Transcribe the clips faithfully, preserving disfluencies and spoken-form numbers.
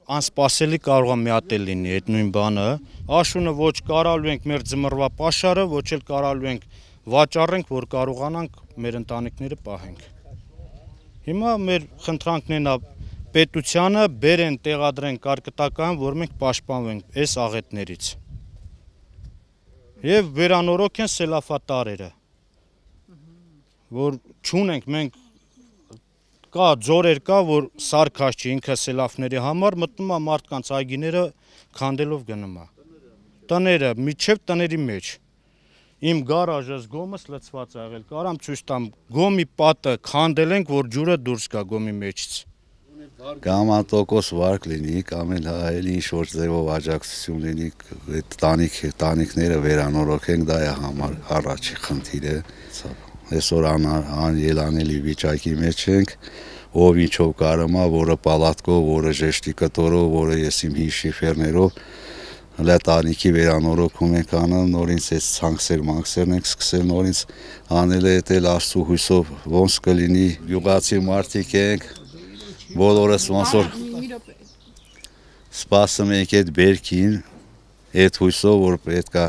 անսպասելի կարող է մի հատ էլ լինի այդ նույն բանը։ Աշունը ոչ կարալու ենք մեր ձմռվա պաշարը, ոչ էլ կարալու ենք վաճառենք, որ կարողանանք մեր ընտանիքները պահենք։ Հիմա մեր խնդրանքներն է պետությանը բերեն տեղադրեն կարկտական, որ մենք պաշտպանվենք այս աղետներից։ Եվ վերանորոգ են սելավատարերը, որ չունենք մենք կա ձորեր կա, որ սարքած չի ինքը սելավների համար, մտնում է մարդկանց այգիները քանդելով գնում է։ Տները, միջև տների մեջ։ Իմ գարաժս գոմս լցված է եղել, կարամ ցույց տամ, գոմի պատը քանդել ենք, որ ջուրը դուրս գա գոմի մեջից։ Կամ տոկոս վարկ լինի, կամ էլ այլ ինչ-որ ձևով աջակցություն լինի, այդ տանիք, տանիքները վերանորոգենք, դա է համար առաջի խնդիրը։ Այսօր անելանելի վիճակի մեջ ենք, ով ինչով կարում է, որը պալատկով, որը ժեշտի կտորով, որը ես իմ հին շիֆերներով, հլա տանիքի վերանորոգում ենք անում, նորից այս ցանքսեր մաքսերն ենք սկսել նորից անել է էլ Աստծո հույսով ոնց կլինի, գյուղացի մարդիկ ենք, բոլորս ոնց որ սպասում ենք այդ բերքին, այդ հույսով, որ պետք է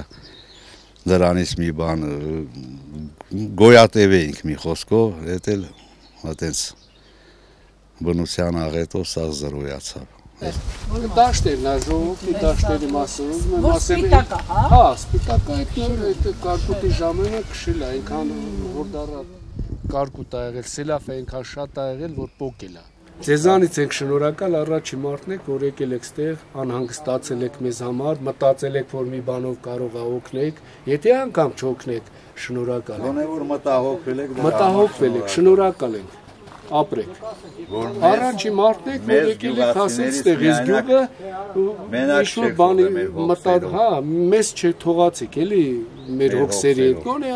դրանից մի բան գոյատևեինք մի խոսքով, այդ էլ այտենց բնության աղետով սա զրոյացավ։ Դաշտերն է, ժողովրդի դաշտերի մասով, որ սպիտակ է, հա։ Հա, սպիտակ է, այդ կարկուտի ժամանակ քշել է, այնքան որ դառա կարկուտ է եղել, սելավ է այնքան շատ է եղել, որ պոկել է։ Ձեզանից ենք շնորհակալ, առաջի մարդն եք, որ եկել եք ստեղ, անհանգստացել եք մեզ համար, մտածել եք, որ մի բանով կարող է օգնեք, եթե անգամ չօգնեք, շնորհակալ ենք։ Գոնե որ մտահոգվել եք, մտահոգվել եք, շնորհակալ ենք, ապրեք։ Առաջի մարդն եք, որ եկել եք հասել ստեղ, ես գյուղը ինչ-որ բանի մտած, հա, մեզ չթողացեք, էլի մեր հոգսերի հետ, գոնե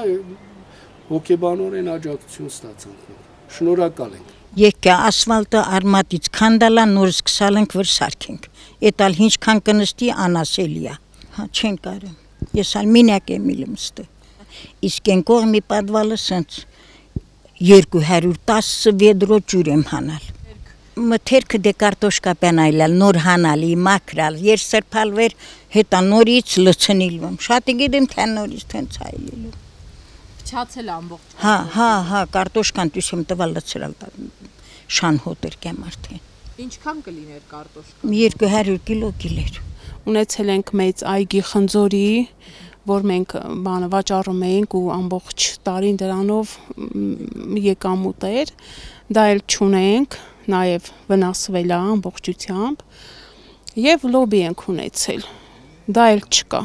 հոգեբանորեն աջակցություն ստացանք, շնորհակալ ենք։ Եկա ասֆալտը արմատից քանդալա նոր սկսալ ենք վր սարքենք։ Էտալ ինչքան կնստի անասելի է։ Հա չեն կարում։ Ես ալ մինակ եմ իլում ստե։ Իսկ են կողմի պատվալը սենց երկու հարյուր տասը վեդրո ջուր եմ հանալ։ Մթերքը դե կարտոշկա պենայլալ նոր հանալի մաքրալ, եր սրբալվեր հետա նորից լցնիլվում։ Շատ գիտեմ թե նորից տենց այլիլու։ Փչացել ամբողջ։ Հա, հա, հա, կարտոշկան դուսեմ տվալ լցրալ շան հոտեր կեմ արդեն։ Ինչքան կլիներ կարտոշկան։ երկու հարյուր կիլո կիլեր։ Ունեցել ենք մեծ այգի խնձորի, որ մենք բանը վաճառում էինք ու ամբողջ տարին դրանով եկամուտ էր, դա էլ չունենք, նաև վնասվել է ամբողջությամբ եւ լոբի ենք ունեցել, դա էլ չկա։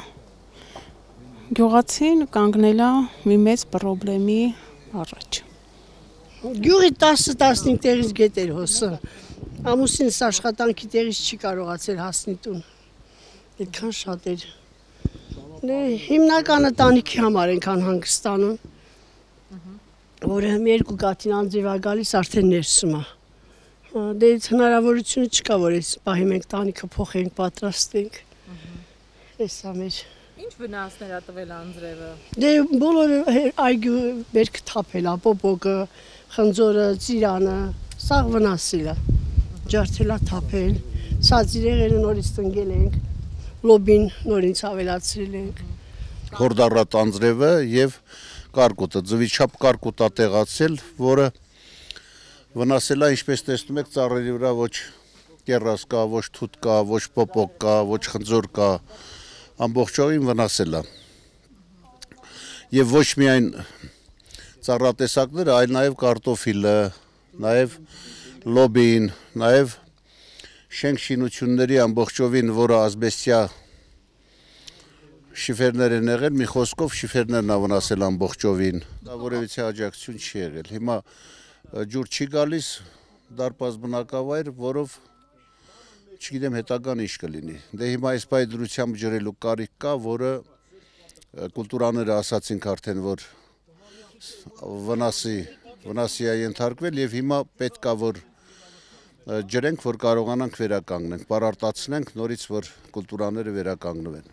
Գյուղացին կանգնել է մի մեծ խնդրի առաջ։ Գյուղի տասը տասնհինգ տեղից գետեր հոսը, ամուսինս աշխատանքի տեղից չի կարողացել հասնի տուն, այդքան շատ էր։ Հիմնականը տանիքի համար ենք անհանգստանում, որը մի երկու կաթին անձիվ է գալիս արդեն ներսում է։ Դե հնարավորությունը չկա, որ այս պահի մենք տանիքը փոխենք, պատրաստենք։ Էսա մեր։ Ինչ վնասներ ա տվել անձրևը։ Դե բոլորը այգու բերք թափել է, պոպոկը, խնձորը, ծիրանը, սաղ վնասել է։ Ջարդել է թափել, սածիրեղենը նորից տնկել ենք, լոբին նորից ավելացրել ենք։ Խորդառատ անձրևը եւ կարկուտը, ձվիչափ կարկուտ է տեղացել, որը վնասել է, ինչպես տեսնում եք, ծառերի վրա ոչ կեռաս կա, ոչ թութ կա, ոչ պոպոկ կա, ոչ խնձոր կա, ամբողջովին վնասել է։ Եվ ոչ միայն ծառատեսակները, այլ նաև կարտոֆիլը, նաև լոբին, նաև շենք շինությունների ամբողջովին, որը ասբեստյա շիֆերներ են եղել, մի խոսքով շիֆերներն ա վնասել ամբողջովին, դա որևիցե աջակցություն չի եղել։ Հիմա ջուր չի գալիս, դարպաս բնակավայր, որով չգիտեմ հետագան ինչ կլինի։ Դե հիմա այս պահի դրությամբ ջրելու կարիք կա, որը կուլտուրաները ասացինք արդեն, որ վնասի, վնասի է ենթարկվել եւ հիմա պետք է որ ջրենք, որ կարողանանք վերականգնենք, պարարտացնենք նորից, որ կուլտուրաները վերականգնվեն։